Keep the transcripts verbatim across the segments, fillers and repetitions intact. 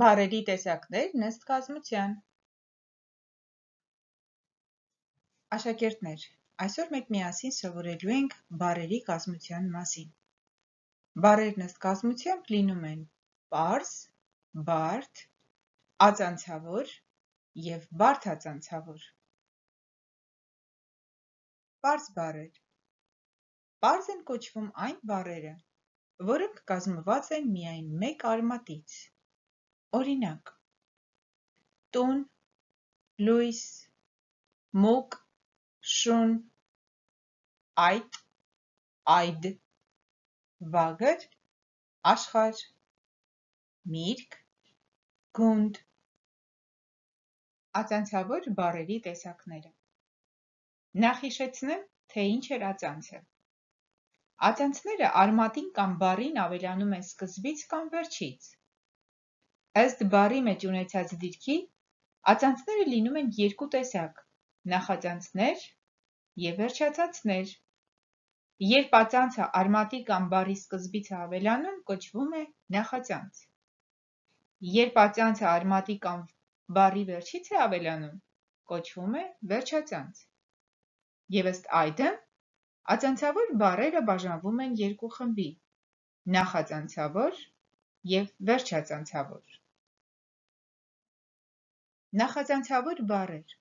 Բառերի տեսակներ նստ կազմության։ Աշակերտներ, այսօր մենք միասին սովորելու ենք բառերի կազմության մասին։ Բառերն ըստ կազմությամբ լինում են պարզ, բարդ, ածանցավոր և բարդածանցավոր։ Պարզ բառեր։ Պարզ են կոչվում այն բառերը, որոնք կազմված են միայն մեկ արմատից։ Օրինակ՝ տուն, լույս, մուկ, շուն, այտ, այդ, վագր, աշխարհ, միրգ, գունդ։ Ածանցավոր բառերի տեսակները։ Նախ հիշեցնեմ, թե ինչ էր ածանցը։ Ածանցները արմատին կամ բառին ավելանում են սկզբից կամ վերջից։ Ըստ բառի մեջ ունեցած դիրքի, ածանցները լինում են երկու տեսակ՝ նախածանցներ և վերջածանցներ։ Երբ ածանցը արմատի կամ բառի սկզբից է ավելանում, կոչվում է նախածանց։ Երբ ածանցը արմատի կամ բառի վերջից է ավելանում, կոչվում է վերջածանց։ Եվ ըստ այդմ, ածանցավոր բառերը բաժանվում են երկու խմբի՝ նախածանցավոր և վերջածանցավոր։ Նախածանցավոր բառեր։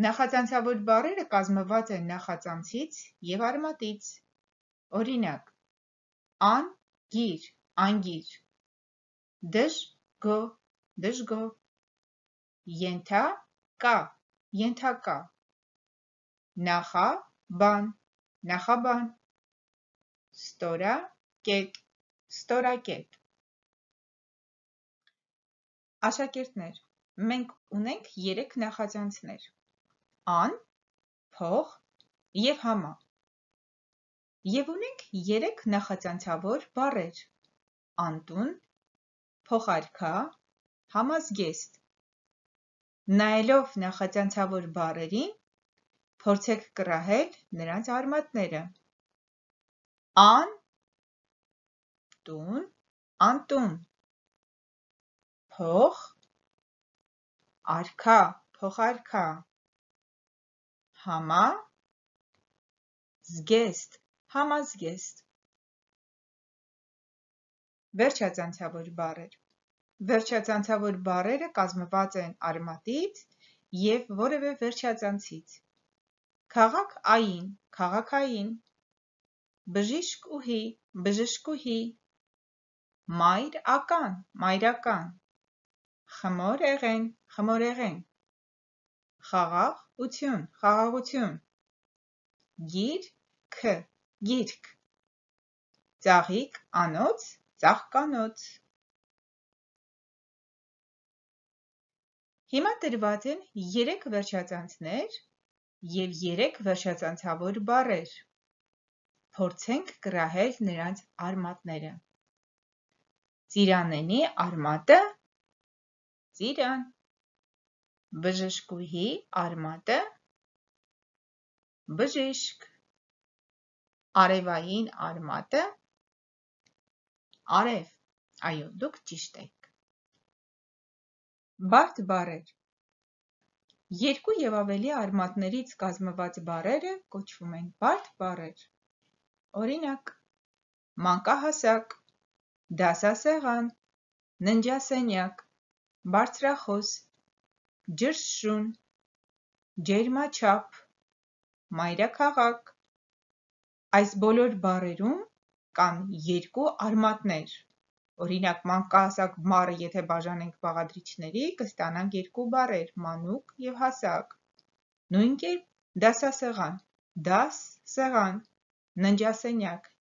Նախածանցավոր բառերը կազմված են նախածանցից և արմատից։ Օրինակ՝ ան-գիր, անգիր, դժ-գո, դժգո, ենթա-կա, ենթակա, նախա-բան, նախաբան, ստորակետ, ստորակետ։ Աշակերտներ, մենք ունենք երեք նախածանցներ՝ ան, փող և համա։ Եվ ունենք երեք նախածանցավոր բառեր՝ անտուն, փոխարքա, համազգեստ։ Նայելով նախածանցավոր բառերին, փորձեք կռահել նրանց արմատները։ Ան – տուն, անտուն։ Փող – արքա, փոխարքա։ Համա – զգեստ, համազգեստ։ Վերջածանցավոր բառեր։ Վերջածանցավոր բառերը կազմված են արմատից և որևէ վերջածանցից։ Քաղաք-ային, քաղաքային, բժիշկ-ուհի, բժշկուհի, մայր-ական, մայրական, խմոր-էղեն, խմորեղեն, խաղաղ-ություն, խաղաղություն, գիր-ք, գիրք, ծաղիկ-անոց, ծաղկանոց։ Հիմա տրված են երեք վերջածանցներ և երեք վերջածանցավոր բառեր։ Փորձենք կռահել նրանց արմատները։ Ծիրանենի արմատը – ծիրան, բժշկուհի արմատը – բժիշկ, արևային արմատը – արև։ Այո, դուք ճիշտ եք։ Բարդ բառեր։ Երկու և ավելի արմատներից կազմված բառերը կոչվում են բարդ բառեր։ Օրինակ՝ մանկահասակ, դասասեղան, ննջասենյակ, բարձրախոս, ջրշշուն, ջերմաչափ, մայրաքաղաք։ Այս բոլոր բառերում կան երկու արմատներ։ Օրինակ՝ մանկահասակ բառը եթե բաժանենք բաղադրիչների, կստանանք երկու բառեր՝ մանուկ և հասակ։ Նույն կերպ դասասեղան, դաս, սեղան, ննջասենյակ,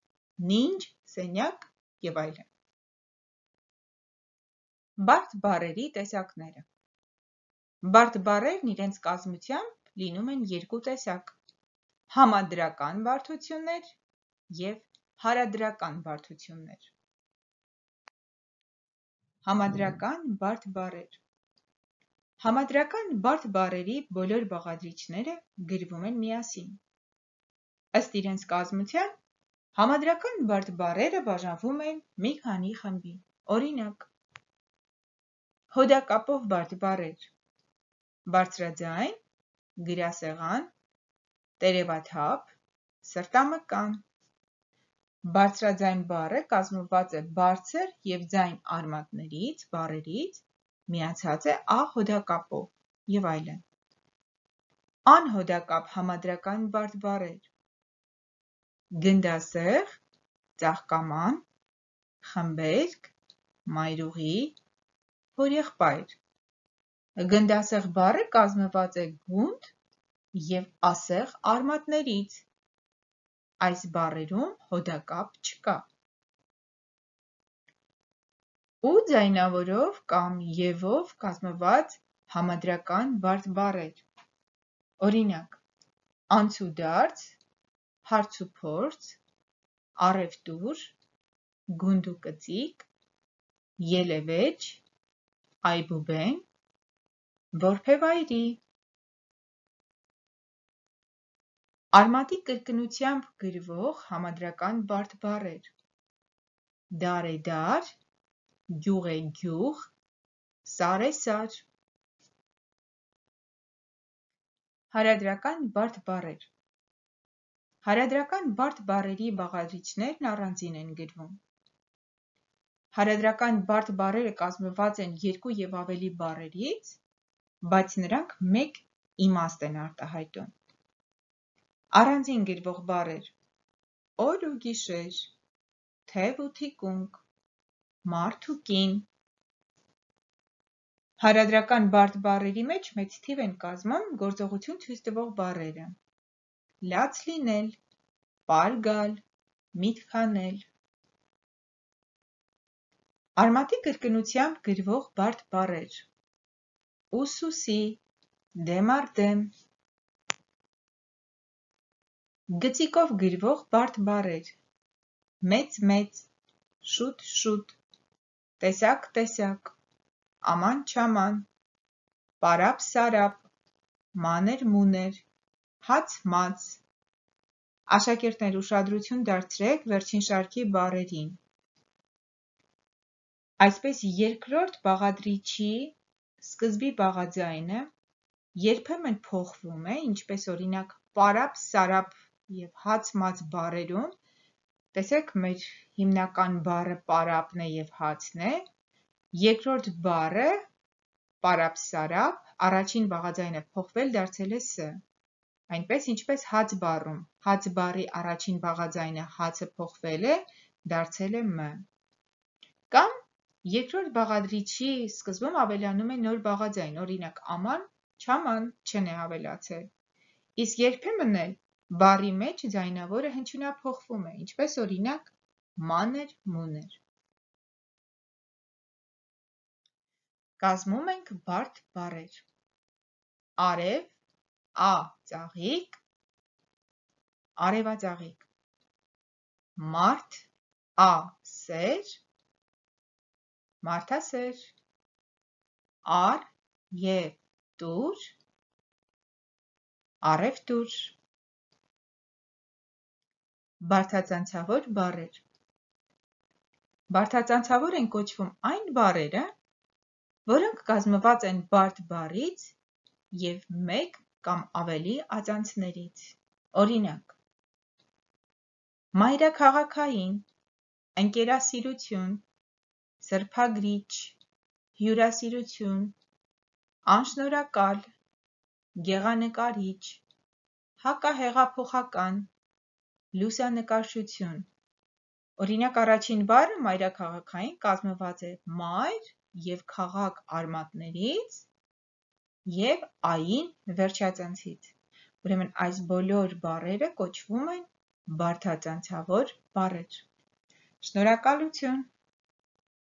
նինջ, սենյակ և այլն։ Բարդ բառերի տեսակները։ Բարդ բառերն իրենց կազմությամբ լինում են երկու տեսակ՝ համադրական բարդություններ և հարադրական բարդություններ։ Համադրական բարդ բառեր։ Համադրական բարդ բառերի բոլոր բաղադրիչները գրվում են միասին։ Ըստ իրենց կազմության, համադրական բարդ բառերը բաժանվում են մի քանի խմբի։ Օրինակ՝ հոդակապով բարդ բառեր. բարձրաձայն, գրասեղան, տերևաթափ, սրտամկան։ Բարձրաձայն բառը կազմված է բարձր և ձայն արմատներից, բառերից, միացած է ա հոդակապով և այլն։ Անհոդակապ համադրական բարդ բառեր. գնդասեղ, ծաղկաման, խմբերգ, մայրուղի, հորեղբայր։ Գնդասեղ բառը կազմված է գունդ և ասեղ արմատներից։ Այս բառերում հոդակապ չկա։ Ու ձայնավորով կամ ևով կազմված համադրական բարդ բառեր. օրինակ, անցուդարձ, հարցուփորձ, առևտուր, գունդուկծիկ, ելևէջ, այբուբեն, որբևայրի։ Արմատի կրկնությամբ գրվող համադրական բարդ բառեր. դար է դար, գյուղ է գյուղ, սար է սար։ Հարադրական բարդ բառեր. Հարադրական բարդ բառերի բաղադրիչներն առանձին են գրվում։ Հարադրական բարդ բառերը կազմված են երկու և ավելի բառերից, բայց նրանք մեկ իմաստ են արտահայտում։ Առանձին գրվող բառեր. օր ու գիշեր, թև ու թիկունք, մարդ ու կին։ Հարադրական բարդ բառերի մեջ մեծ թիվ են կազմում գործողություն ցույց տվող բառերը. լաց լինել, պար գալ, միտք հանել։ Արմատի կրկնությամբ գրվող բարդ բառեր. ուսուսի, դեմ առ դեմ։ Գծիկով գրվող բարդ բառեր. մեծ մեծ, շուտ շուտ, տեսակ տեսակ, աման չաման, պարապ սարապ, մանր մուներ, հաց մաց։ Աշակերտներ ուշադրություն դարձրեք վերջին շարքի բառերին։ Այսպես երկրորդ բաղադրիչի սկզբի բաղաձայնը երբեմն փոխվում է, ինչպես օրինակ պարապ սարապ և հաց մաց բառերում, տեսեք մեր հիմնական բառը պարապն է և հացն է, երկրորդ բառը պարապ սարապ առաջին բաղաձայնը փոխվել դարձել է ս, այնպես ինչպես հաց բառում հաց բառի առաջին բաղաձայնը հացը փոխվել է դարձել է մ։ Կամ երկրորդ բաղադրիչի սկզբում ավելանում է նոր բաղաձայն, օրինակ աման չաման չն է ավելացել, իսկ երբեմն էլ բառի մեջ ձայնավորը հնչյունափոխվում է, ինչպես օրինակ մանր մուներ։ Կազմում ենք բարդ բառեր. արև, ա ծաղիկ, արևածաղիկ, մարդ, ա սեր, մարդասեր, առ և տուր, առևտուր։ Բարդածանցավոր բառեր. Բարդածանցավոր են կոչվում այն բառերը, որոնք կազմված են բարդ բառից և մեկ կամ ավելի ածանցներից։ Օրինակ. մայրաքաղաքային, ընկերասիրություն, սրբագրիչ, հյուրասիրություն, անշնորհակալ, գեղանկարիչ, հակահեղափոխական, լուսանկարչություն։ Օրինակ առաջին բառը մայրաքաղաքային կազմված է մայր և քաղաք արմատներից և ային վերջածանցից։ Ուրեմն այս բոլոր բառերը կոչվում են բարդածանցավոր բառեր։ Շնորհակալություն։